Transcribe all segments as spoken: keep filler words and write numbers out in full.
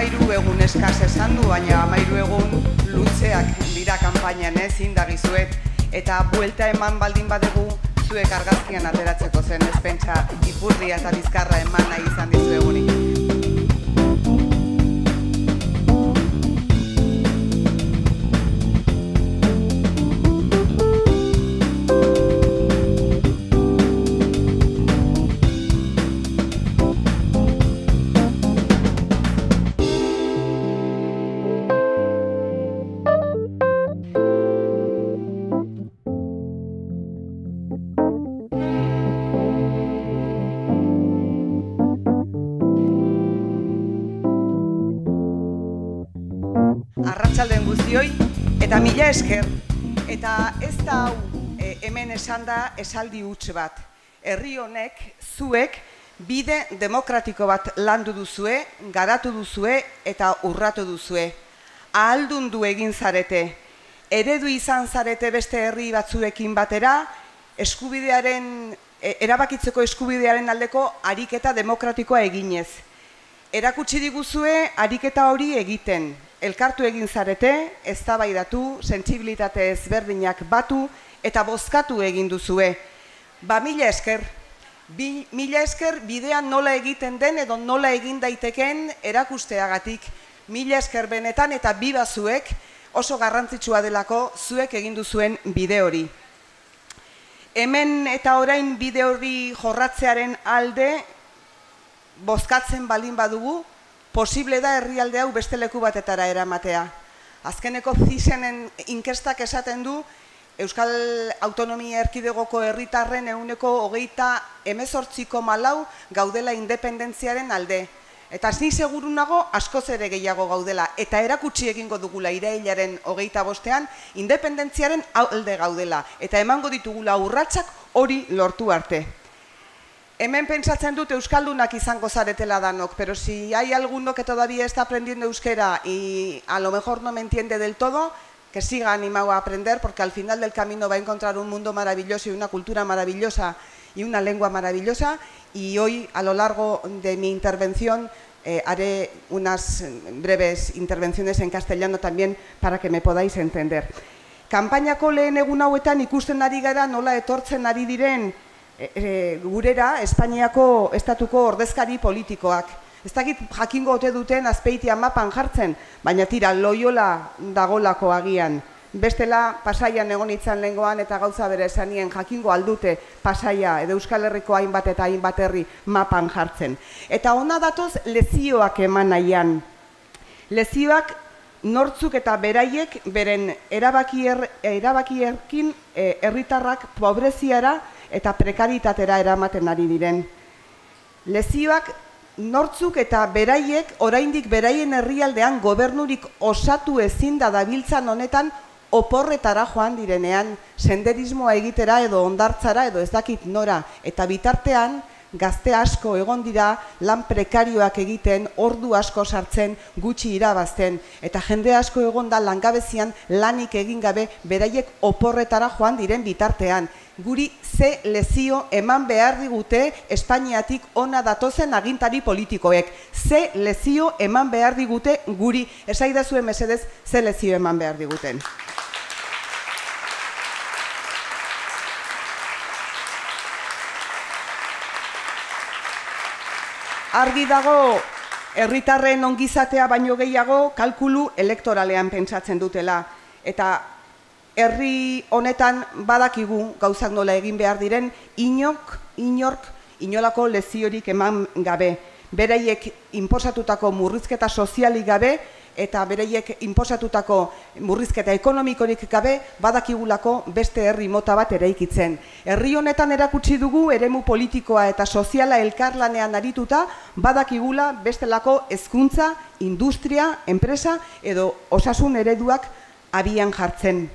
amairu egun eskaz esan du, baina amairu egun luzeak dira kanpainan ez indagizuet, eta buelta eman baldin badegu zuek argazkian ateratzeko zen, ez pentsa ipurdia eta bizkarra eman nahi izan dizu egunik. Arratsalden guztioi, eta mila esker, eta ez da hau e, hemen esan da esaldi huts bat. Herri honek, zuek, bide demokratiko bat landu duzue, garatu duzue eta urratu duzue. Ahaldundu egin zarete, eredu izan zarete beste herri batzuekin batera, eskubidearen, e, erabakitzeko eskubidearen aldeko ariketa demokratikoa eginez. Erakutsi diguzue ariketa hori egiten. Elkartu egin zarete, eztabaidatu, sentsibilitate ezberdinak batu eta bozkatu egin duzue. Ba mila esker, Bi, mila esker bidean nola egiten den edo nola egin daiteken erakusteagatik. Mila esker benetan eta biba zuek, oso garrantzitsua delako zuek egin duzuen bide hori. Hemen eta orain bide hori jorratzearen alde bozkatzen baldin badugu, posible da herrialde hau beste leku batetara eramatea. Azkeneko zisenen inkestak esaten du Euskal Autonomia Erkidegoko herritarren ehuneko hogeita hemezortziko malau gaudela independentziaren alde. Eta ni seguru nago askoz ere gehiago gaudela. Eta erakutsi egingo dugula irailaren hogeita bostean independentziaren alde gaudela. Eta emango ditugula urratsak hori lortu arte. Hemen pentsatzen dut euskaldunak izango zaretela danok, pero si hay alguno que todavía está aprendiendo euskera y a lo mejor no me entiende del todo, que siga animado a aprender, porque al final del camino va a encontrar un mundo maravilloso y una cultura maravillosa y una lengua maravillosa. Y hoy, a lo largo de mi intervención, eh, haré unas breves intervenciones en castellano también para que me podáis entender. Kanpainako lehen egun hauetan ikusten ari gara nola etortzen ari diren E, e, gurera Espainiako estatuko ordezkari politikoak. Ez dakit jakingo ote duten Azpeitia mapan jartzen, baina tira Loiola dagolako agian. Bestela Pasaian egon itzan lehengoan eta gauza bere esanien jakingo aldute Pasaia edo Euskal Herriko hainbat eta hainbat herri mapan jartzen. Eta ona datoz lezioak eman nahian. Lezioak nortzuk eta beraiek beren erabakier, erabakierkin e, herritarrak pobreziara eta prekaritatera eramaten ari diren. Lezioak nortzuk eta beraiek oraindik beraien herrialdean gobernurik osatu ezin da dabiltzan honetan oporretara joan direnean, senderismoa egitera edo hondartzara edo ez dakit nora, eta bitartean gazte asko egon dira lan prekarioak egiten, ordu asko sartzen, gutxi irabazten, eta jende asko egon da langabezian lanik egin gabe beraiek oporretara joan diren bitartean. Guri ze lezio eman behar digute Espainiatik ona datozen agintari politikoek. Ze lezio eman behar digute guri, esaidazue mesedez ze lezio eman behar diguten. Argi dago, herritarren ongizatea baino gehiago kalkulu elektoralean pentsatzen dutela. Eta herri honetan badakigu gauzak nola egin behar diren, inok, inork, inolako leziorik eman gabe. Beraiek inposatutako murrizketa sozialik gabe, eta beraiek inposatutako murrizketa ekonomikorik gabe badakigulako beste herri mota bat eraikitzen. Herri honetan erakutsi dugu eremu politikoa eta soziala elkarlanean arituta badakigula bestelako hezkuntza, industria, enpresa edo osasun ereduak abian jartzen.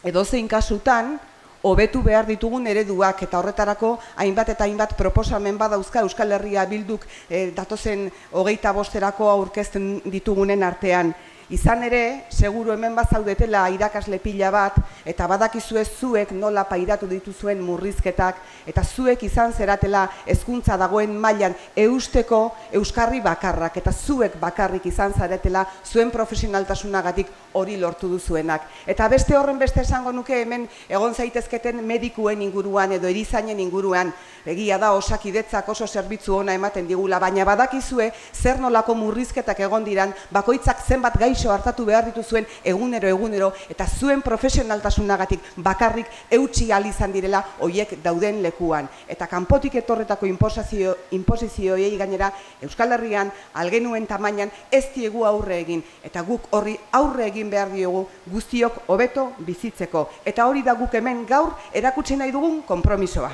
Edozein kasutan, hobetu behar ditugun ereduak eta horretarako hainbat eta hainbat proposamen badauzka Euskal Herria Bilduk eh, datozen hogeita bosterako aurkezten ditugunen artean. Izan ere, seguru hemen bazaudetela irakasle pila bat, eta badakizue zuek nola pairatu dituzuen murrizketak, eta zuek izan zeratela hezkuntza dagoen mailan eusteko euskarri bakarrak, eta zuek bakarrik izan zaretela zuen profesionaltasunagatik hori lortu duzuenak. Eta beste horren beste esango nuke hemen egon zaitezketen medikuen inguruan edo erizainen inguruan, egia da Osakidetzak oso zerbitzu ona ematen digula, baina badakizue zer nolako murrizketak egon diran, bakoitzak zenbat gaixo hartatu behar dituzuen egunero egunero, eta zuen profesionaltasunagatik bakarrik eutsi ahal izan direla hoiek dauden lekuan. Eta kanpotik etorretako inposizio, inposizioei gainera Euskal Herrian algenuen tamainan ez diegu aurre egin, eta guk horri aurre egin behar diogu guztiok hobeto bizitzeko. Eta hori da guk hemen gaur erakutsi nahi dugun konpromisoa.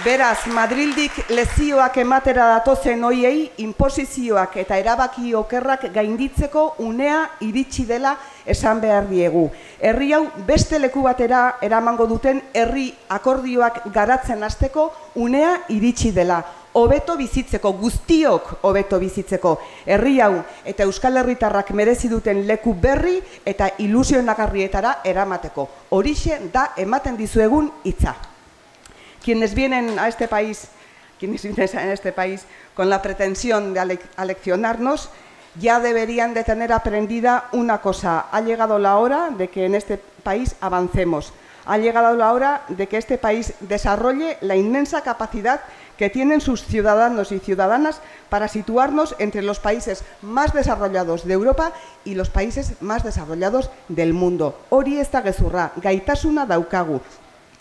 Beraz, Madrildik lezioak ematera datozen hoiei, inposizioak eta erabaki okerrak gainditzeko unea iritsi dela esan behar diegu. Herri hau beste leku batera eramango duten herri akordioak garatzen hasteko unea iritsi dela. Hobeto bizitzeko, guztiok hobeto bizitzeko. Herri hau eta Euskal Herritarrak merezi duten leku berri eta ilusionagarrietara eramateko. Horixe da ematen dizuegun hitza. Quienes vienen a este país, quienes vienen a este país con la pretensión de aleccionarnos, ya deberían de tener aprendida una cosa. Ha llegado la hora de que en este país avancemos. Ha llegado la hora de que este país desarrolle la inmensa capacidad que tienen sus ciudadanos y ciudadanas para situarnos entre los países más desarrollados de Europa y los países más desarrollados del mundo. Hori ez da gezurra, gaitasuna daukagu.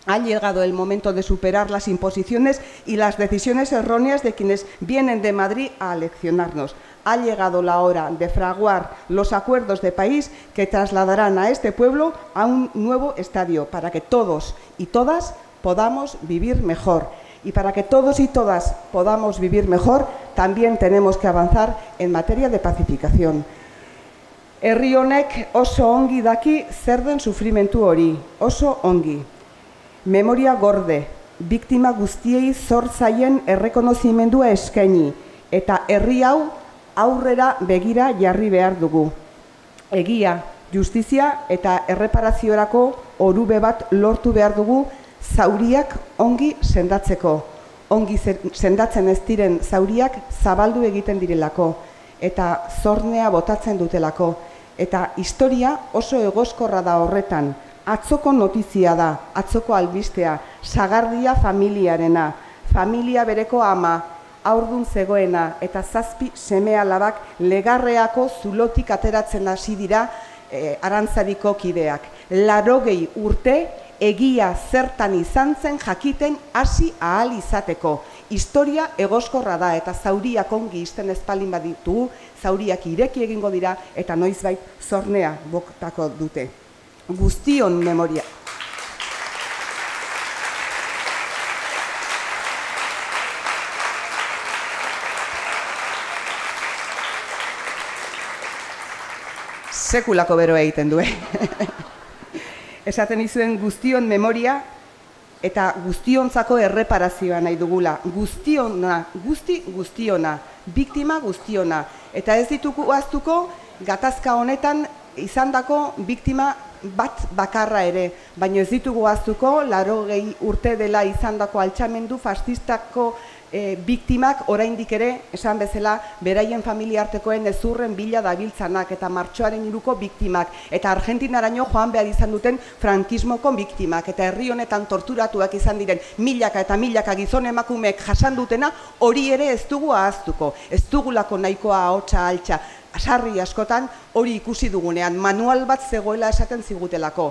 Ha llegado el momento de superar las imposiciones y las decisiones erróneas de quienes vienen de Madrid a aleccionarnos. Ha llegado la hora de fraguar los acuerdos de país que trasladarán a este pueblo a un nuevo estadio para que todos y todas podamos vivir mejor. Y para que todos y todas podamos vivir mejor, también tenemos que avanzar en materia de pacificación. Herri honek oso ongi daki zer den sufrimentu hori, oso ongi. Memoria gorde, biktima guztiei zor zaien errekonozimendua eskaini, eta herri hau aurrera begira jarri behar dugu. Egia, justizia eta erreparaziorako orube bat lortu behar dugu zauriak ongi sendatzeko. Ongi sendatzen ez diren zauriak zabaldu egiten direlako, eta zornea botatzen dutelako. Eta historia oso egoskorra da horretan. Atzoko notizia da, atzoko albistea, sagardia familiarena, familia bereko ama, haurdun zegoena eta zazpi seme alabak legarreako zulotik ateratzen hasi dira e, Arantzadiko kideak. Larogei urte egia zertan izan zen jakiten hasi ahal izateko. Historia egoskorra da eta zauriak ongi izten ezpalin baditu, zauriak ireki egingo dira eta noizbait zornea botako dute. Guztion memoria. Sekulako bero egiten du, eh? Esaten izuen guztion memoria eta guztiontzako erreparazioa nahi dugula. Guztiona, guzti guztiona, biktima guztiona. Eta ez ditugu ahaztuko gatazka honetan izandako biktima bat bakarra ere, baina ez ditugu ahaztuko laurogei urte dela izandako altxamendu fascistako e, biktimak oraindik ere, esan bezala, beraien familiartekoen ezurren bila dabiltzanak eta martxoaren hiruko biktimak, eta Argentinaraino joan behar izan duten frankismoko biktimak, eta herri honetan torturatuak izan diren milaka eta milaka gizon emakumeek jasan dutena, hori ere ez dugu ahaztuko, ez dugulako nahikoa ahotsa altxa. Sarri askotan hori ikusi dugunean, manual bat zegoela esaten zigutelako.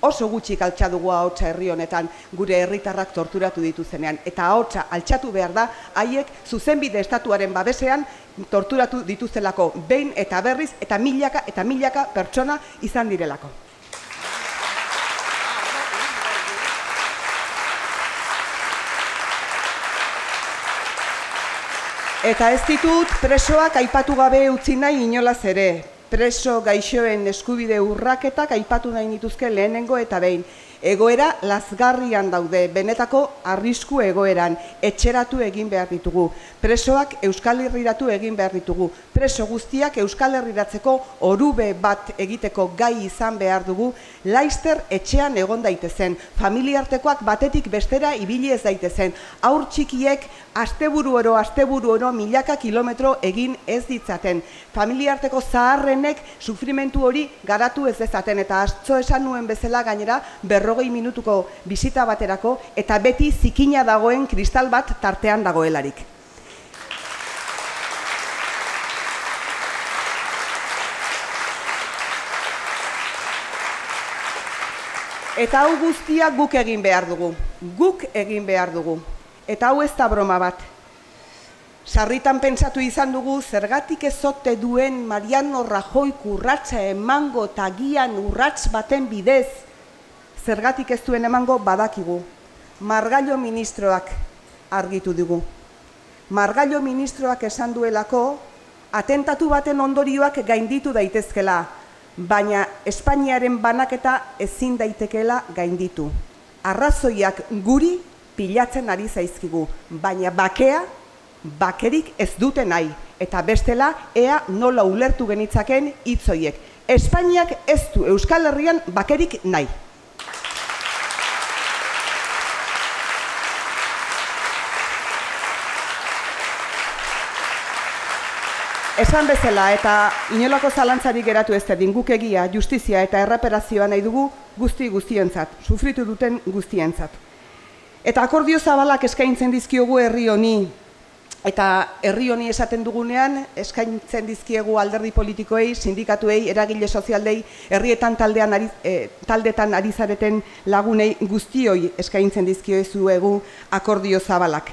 Oso gutxik altxa dugu ahotsa herri honetan gure herritarrak torturatu dituzenean. Eta ahotsa altxatu behar da, haiek zuzenbide estatuaren babesean torturatu dituztelako behin eta berriz eta milaka eta milaka pertsona izan direlako. Eta ez ditut presoak aipatu gabe utzi nahi inolaz ere. Preso gaixoen eskubide urraketak aipatu nahi nituzke lehenengo eta behin. Egoera lazgarrian daude, benetako arrisku egoeran, etxeratu egin behar ditugu. Presoak Euskal Herriratu egin behar ditugu. Preso guztiak Euskal Herriratzeko orube bat egiteko gai izan behar dugu, laizter etxean egon daitezen, familiartekoak batetik bestera ibili ez daitezen, haur txikiek asteburu oro, asteburu oro milaka kilometro egin ez ditzaten, familiarteko zaharrenek sufrimentu hori garatu ez dezaten, eta atzo esan nuen bezala gainera berrogei minutuko bisita baterako, eta beti zikina dagoen kristal bat tartean dagoelarik. Eta hau guztia guk egin behar dugu, guk egin behar dugu. Eta hau ez da broma bat. Sarritan pentsatu izan dugu, zergatik ezote duen Mariano Rajoy urratsa emango tagian urrats baten bidez, zergatik ez duen emango badakigu. Margallo ministroak argitu dugu. Margallo ministroak esan duelako, atentatu baten ondorioak gainditu daitezkela, baina Espainiaren banaketa ezin daitekeela gainditu. Arrazoiak guri pilatzen ari zaizkigu, baina bakea, bakerik ez dute nahi, eta bestela ea nola ulertu genitzaken hitzoiek. Espainiak ez du Euskal Herrian bakerik nahi. Esan bezala eta inolako zalantzarik geratu ez dedin, guk egia, justizia eta erreparazioa nahi dugu guzti guztientzat, sufritu duten guztientzat. Eta akordio zabalak eskaintzen dizkiogu herri honi, eta herri honi esaten dugunean eskaintzen dizkiegu alderdi politikoei, sindikatuei, eragile sozialdei, herrietan taldean ari, e, taldetan ari zareten lagunei guztioi eskaintzen dizkiozuegu akordio zabalak.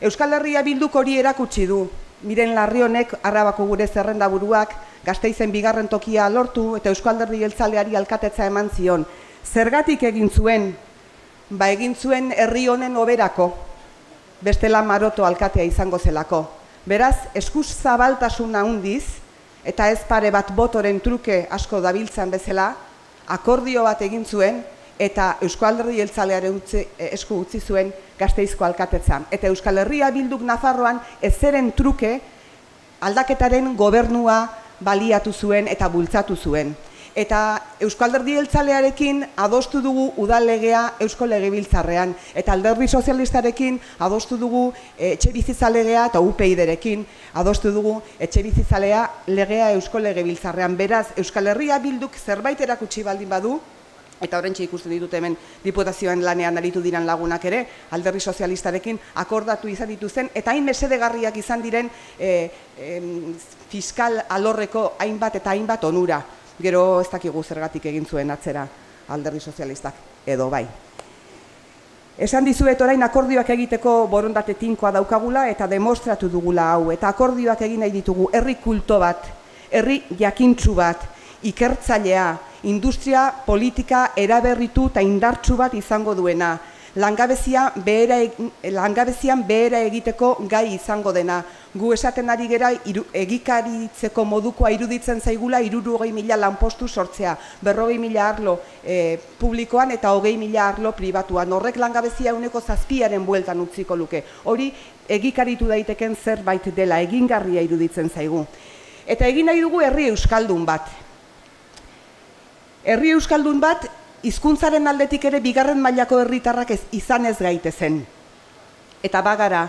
Euskal Herria Bilduk hori erakutsi du. Miren Larrionek, Arabako gure zerrendaburuak, Gasteizen bigarren tokia lortu eta Euskal Alderdi Jeltzaleari alkatetza eman zion. Zergatik egin zuen? Ba egin zuen herri honen hoberako, bestela maroto alkatea izango zelako. Beraz, eskuz zabaltasuna handiz, eta ez pare bat botoren truke asko dabiltzan bezala, akordio bat egin zuen, eta Euskal Alderdi Jeltzalearen esku utzi zuen Gasteizko alkatetza. Eta Euskal Herria Bilduk Nafarroan ezeren truke aldaketaren gobernua baliatu zuen eta bultzatu zuen. Eta Euskal Alderdi Jeltzalearekin adostu dugu udal legea Eusko Legebiltzarrean, eta Alderdi Sozialistarekin adostu dugu etxebizitza legea eta U P Yrekin adostu dugu etxebizitza legea Eusko Legebiltzarrean. Beraz, Euskal Herria Bilduk zerbait erakutsi baldin badu, eta horrentxe ikusten ditut hemen diputazioan lanean aritu diran lagunak ere, Alderdi Sozialistarekin akordatu izan dituzen, eta hain mesedegarriak izan diren e, e, fiskal alorreko hainbat eta hainbat onura. Gero ez dakigu zergatik egin zuen atzera Alderdi Sozialistak, edo bai. Esan dizuet orain akordioak egiteko borondate tinkoa daukagula eta demostratu dugula hau, eta akordioak egin nahi ditugu herri kulto bat, herri jakintsu bat, ikertzailea, industria politika eraberritu eta indartsu bat izango duena, langabezia behera, langabezian behera egiteko gai izango dena. Gu esaten ari gera iru, egikaritzeko modukoa iruditzen zaigula hirurogei mila lanpostu sortzea, berrogei mila arlo e, publikoan eta hogei mila arlo pribatuan. Horrek langabezia ehuneko zazpiaren bueltan utziko luke. Hori egikaritu daiteken zerbait dela, egingarria iruditzen zaigu. Eta egin nahi dugu herri euskaldun bat. Herri euskaldun bat, hizkuntzaren aldetik ere bigarren mailako herritarrak ez izan ez gaitezen. Eta bagara,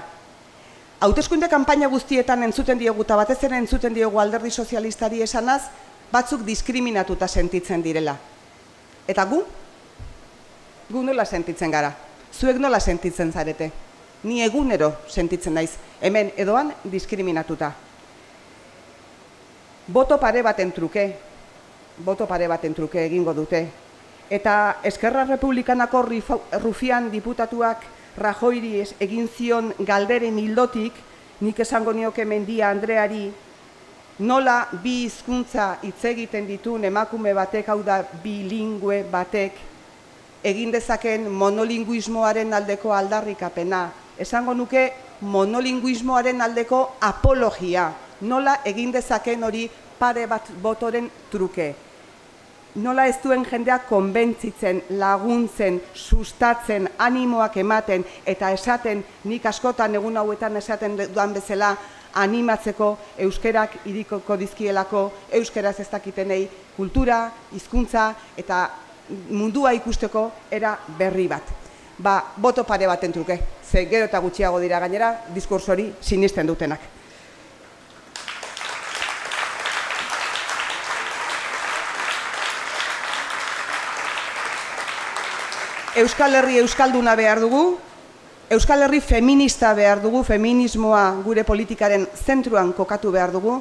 hauteskunde kanpaina guztietan entzuten diogu eta batez ere entzuten diogu Alderdi Sozialistari esanaz, batzuk diskriminatuta sentitzen direla. Eta gu? Gu nola sentitzen gara? Zuek nola sentitzen zarete? Ni egunero sentitzen naiz, hemen edoan diskriminatuta. Boto pare baten truke, boto pare baten truke egingo dute. Eta Eskerra Republikanako rufian diputatuak Rajoyri egin zion galderen hildotik, nik esango nioke Mendia Andreari, nola bi hizkuntza hitz egiten ditun emakume batek, hau da bilingüe batek, egin dezaken monolinguismoaren aldeko aldarrikapena. Esango nuke monolinguismoaren aldeko apologia, nola egin dezaken hori pare bat botoren truke. nola ez duen jendea konbentzitzen, laguntzen, sustatzen, animoak ematen, eta esaten, nik askotan egun hauetan esaten duan bezala, animatzeko euskerak irikoko dizkielako, euskeraz ez dakitenei kultura, hizkuntza eta mundua ikusteko era berri bat. Ba, boto pare baten truke, ze gero eta gutxiago dira gainera, diskurso hori sinisten dutenak. Euskal Herri euskalduna behar dugu, Euskal Herri feminista behar dugu, feminismoa gure politikaren zentruan kokatu behar dugu,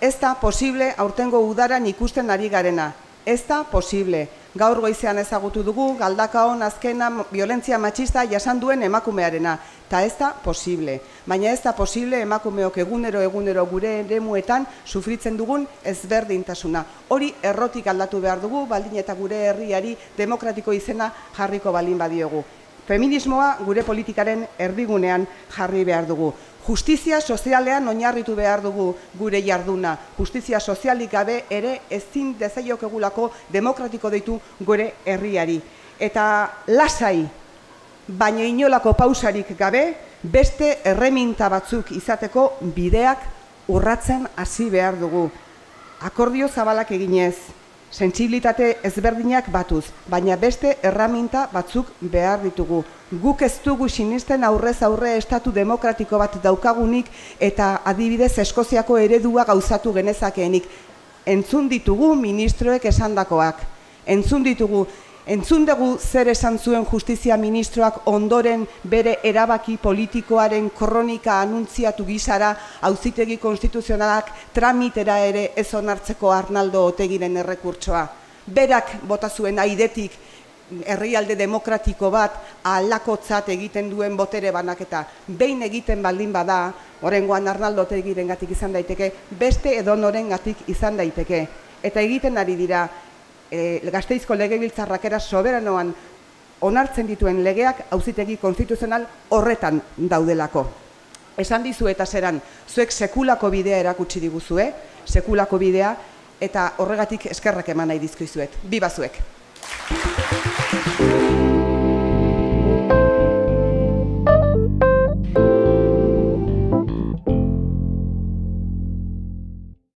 ez da posible aurtengo udaran ikusten ari garena. Ez da posible. Gaur goizean ezagutu dugu, galdakaon azkena violentzia matxista jasan duen emakumearena. Ta ez da posible. Baina ez da posible emakumeok egunero egunero gure eremuetan sufritzen dugun ezberdintasuna. Hori errotik aldatu behar dugu, baldin eta gure herriari demokratiko izena jarriko balin badiogu. Feminismoa gure politikaren erdigunean jarri behar dugu. Justizia sozialean oinarritu behar dugu gure jarduna. Justizia sozialik gabe ere ezin dezaiokegulako demokratiko deitu gure herriari. Eta lasai, baina inolako pausarik gabe, beste erreminta batzuk izateko bideak urratzen hasi behar dugu. Akordio zabalak eginez, sentsibilitate ezberdinak batuz, baina beste erraminta batzuk behar ditugu. Guk ez dugu sinisten aurrez aurre estatu demokratiko bat daukagunik eta adibidez Eskoziako eredua gauzatu genezakeenik. Entzun ditugu ministroek esandakoak. Entzun ditugu, entzun dugu zer esan zuen justizia ministroak ondoren bere erabaki politikoaren kronika anuntziatu gizara auzitegi konstituzionalak tramitera ere ez onartzeko Arnaldo Otegiren errekurtsoa. Berak bota zuen aidetik herrialde demokratiko bat alakotzat egiten duen botere banaketa. Behin egiten baldin bada, oraingoan Arnaldo Otegirengatik izan daiteke, beste edonorengatik izan daiteke. Eta egiten ari dira, E, Gasteizko legebiltzarrak era soberanoan onartzen dituen legeak auzitegi konstituzional horretan daudelako. Esan dizu eta zeran, zuek sekulako bidea erakutsi diguzue, sekulako bidea, eta horregatik eskerrak eman nahi dizkizuet. Biba zuek!